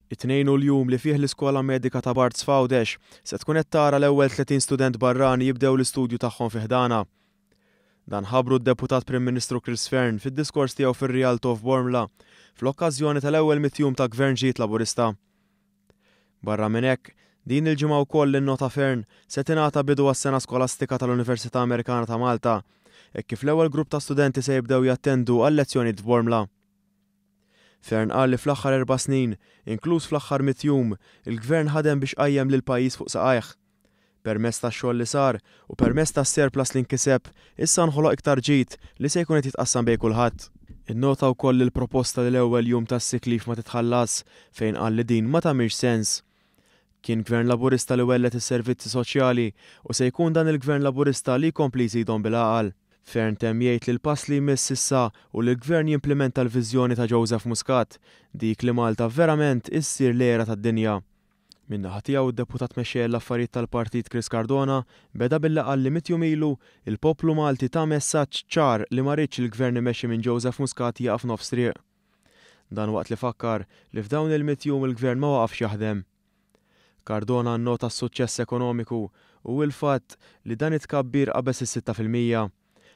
It-Tnejn hu l-jum li fih l-Iskola Medika ta' Barts f'Għawdex se tkun qed tara l-ewwel 30 student barrani jibdew l-istudju tagħhom fi ħdanha. Dan ħabbru d-Deputat Prim Ministru Chris Fearne fid-diskors tiegħu fir-Rialto f'Bormla fl-okkażjoni tal-ewwel mitt jum ta' Gvern ġdid Laburista. Barra minn hekk, din il-ġimgħa wkoll innota Fearne se tingħata bidu għas-sena skolastika tal-Università Amerikana ta' Malta hekk kif l-ewwel grupp ta' studenti se jibdew jattendu għal-lezzjonijiet f'Bormla. Fearne qal li fl-aħħar erba' snin, inkluż fl-aħħar mitt jum, il-Gvern ħadem biex qajjem lill-pajjiż fuq saqajh. Permezz tax-xogħol li sar u permezz tas-surplus li nkiseb, issa nħoloq iktar ġid li se jkun qed jitqassam bejn kulħadd. Innota wkoll il-proposta li l-ewwel jum tas-sick leave ma titħallas fejn qal li din ma tagħmilx sens. Kien Gvern Laburista li welled is-servizzi soċjali u se jkun dan il-Gvern Laburista li jkompli jżidhom bil-għaqal. Fearne temm jgħid li l-pass li jmiss issa hu li l-Gvern jimplimenta l-viżjoni ta' Joseph Muscat, dik li Malta verament issir l-għira tad-dinja. Min-naħa tiegħu d-Deputat Mexxej għall-Affarijiet tal-Partit Chris Cardona beda billi qal li mitt jum ilu, il-poplu Malti ta messaġġ ċar li ma riedx il-Gvern imexxi minn Joseph Muscat jieqaf nofs triq. Dan waqt li fakkar li f'dawn il-mitt jum il-Gvern ma waqafx jaħdem. Cardona nnota s-suċċess ekonomiku u il-fatt li dan it-tkabbir qabeż is-6%.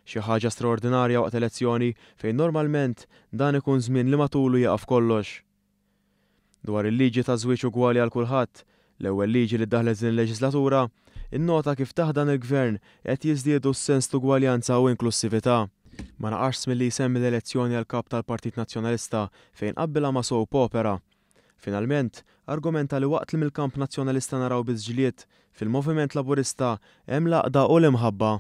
Xi ħaġa straordinarja waqt elezzjoni fejn normalment dan ikun żmien li matulu jieqaf kollox. Dwar il-liġi ta' żwieġ ugwali għal kulħadd, l-ewwel liġi li ddaħħlet din il-leġislatura, innota kif taħt dan il-Gvern qed jiżdiedu s-sens t'ugwaljanza u inklussività. Ma naqasx milli jsemmi l-elezzjoni għal Kap tal-Partit Nazzjonalista fejn qabbilha ma' soap opera. Finalment, argumenta li waqt li mill-kamp Nazzjonalista naraw biss ġlied, fil-Moviment Laburista hemm l-għaqda u l-imħabba.